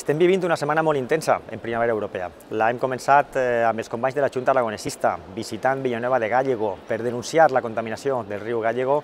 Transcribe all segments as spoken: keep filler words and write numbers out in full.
Estem vivint una setmana molt intensa en primavera europea. La hem començat eh, amb els companys de la Junta Aragonesista, visitant Villanueva de Gállego per denunciar la contaminació del riu Gállego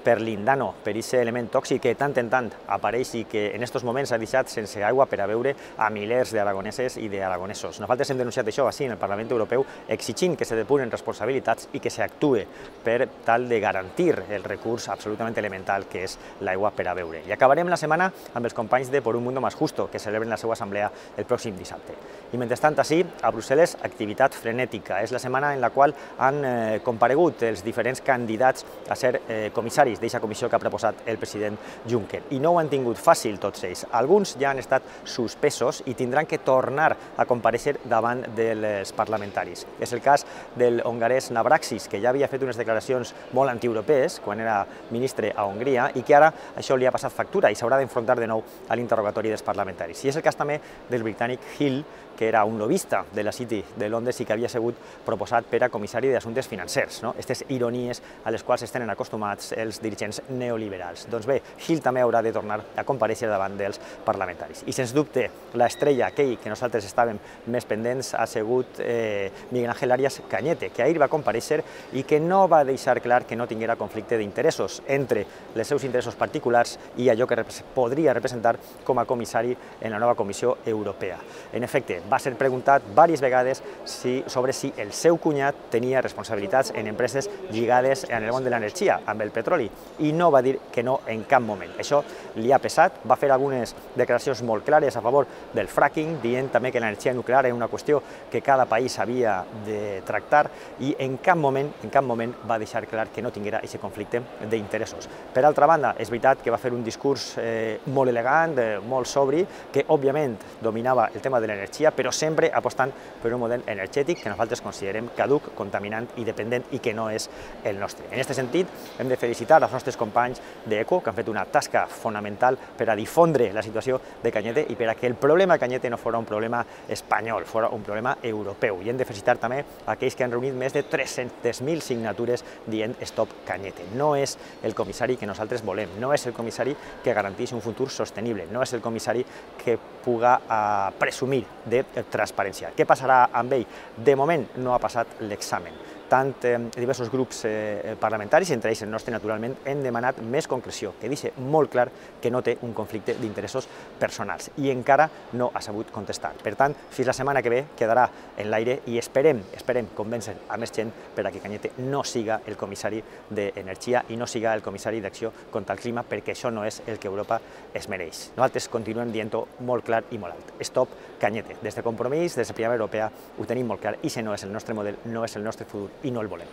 per l'indano, per aquest element tòxic que tant en tant apareix i que en aquests moments ha deixat sense aigua per a beure a milers d'aragoneses i d'aragonesos. Nosaltres hem denunciat això així en el Parlament Europeu, exigint que se depuren responsabilitats i que s'actue per tal de garantir el recurs absolutament elemental que és l'aigua per a beure. I acabarem la setmana amb els companys de Por un Mundo Más Justo, que celebren la seva assemblea el pròxim dissabte. I mentrestant, ací, a Brussel·les, activitat frenètica. És la setmana en la qual han eh, comparegut els diferents candidats a ser eh, comissaris d'aquesta comissió que ha proposat el president Juncker. I no ho han tingut fàcil tots ells. Alguns ja han estat suspesos i tindran que tornar a comparèixer davant dels parlamentaris. És el cas del hongarès Navracsics, que ja havia fet unes declaracions molt antieuropees quan era ministre a Hongria i que ara això li ha passat factura i s'haurà d'enfrontar de nou a l'interrogatori dels parlamentaris. I és el cas també del britànic Hill, que era un lobista de la City de Londres i que havia sigut proposat per a comissari d'assumptes financers. Aquestes ironies a les quals estan acostumats els dirigents neoliberals. Doncs bé, Hill també haurà de tornar a comparèixer davant dels parlamentaris. I sens dubte, l'estrella aquell que nosaltres estàvem més pendents ha sigut eh, Miguel Ángel Arias Cañete, que ahir va comparèixer i que no va deixar clar que no tinguera conflicte d'interessos entre els seus interessos particulars i allò que podria representar com a comissari en la nova Comissió Europea. En efecte, va ser preguntat diverses vegades si, sobre si el seu cunyat tenia responsabilitats en empreses lligades en el món de l'energia, amb el petroli, i no va dir que no en cap moment. Això li ha pesat, va fer algunes declaracions molt clares a favor del fracking, dient també que l'energia nuclear era una qüestió que cada país havia de tractar i en cap moment, en cap moment va deixar clar que no tinguera aquest conflicte d'interessos. Per altra banda, és veritat que va fer un discurs eh, molt elegant, eh, molt sobri, que òbviament dominava el tema de l'energia, però sempre apostant per un model energètic que nosaltres considerem caduc, contaminant i dependent i que no és el nostre. En aquest sentit, hem de felicitar els nostres companys d'ECO, que han fet una tasca fonamental per a difondre la situació de Cañete i per a que el problema de Cañete no fos un problema espanyol, fos un problema europeu. I hem de felicitar també aquells que han reunit més de tres-centes mil signatures dient Stop Cañete. No és el comissari que nosaltres volem, no és el comissari que garanteix un futur sostenible, no és el comissari que puga uh, presumir de transparència. Què passarà amb ell? De moment no ha passat l'examen. Tant eh, diversos grups eh, parlamentaris, entre ells el nostre naturalment, hem demanat més concreció, que deixi molt clar que no té un conflicte d'interessos personals i encara no ha sabut contestar. Per tant, fins la setmana que ve quedarà en l'aire i esperem, esperem convèncer a més gent per a que Cañete no siga el comissari d'Energia i no siga el comissari d'Acció contra el Clima, perquè això no és el que Europa es mereix. Nosaltres continuem dient-ho molt clar i molt alt. Stop Cañete. Des de Compromís, des de Primavera Europea, ho tenim molt clar, i si no és el nostre model, no és el nostre futur i no el volem.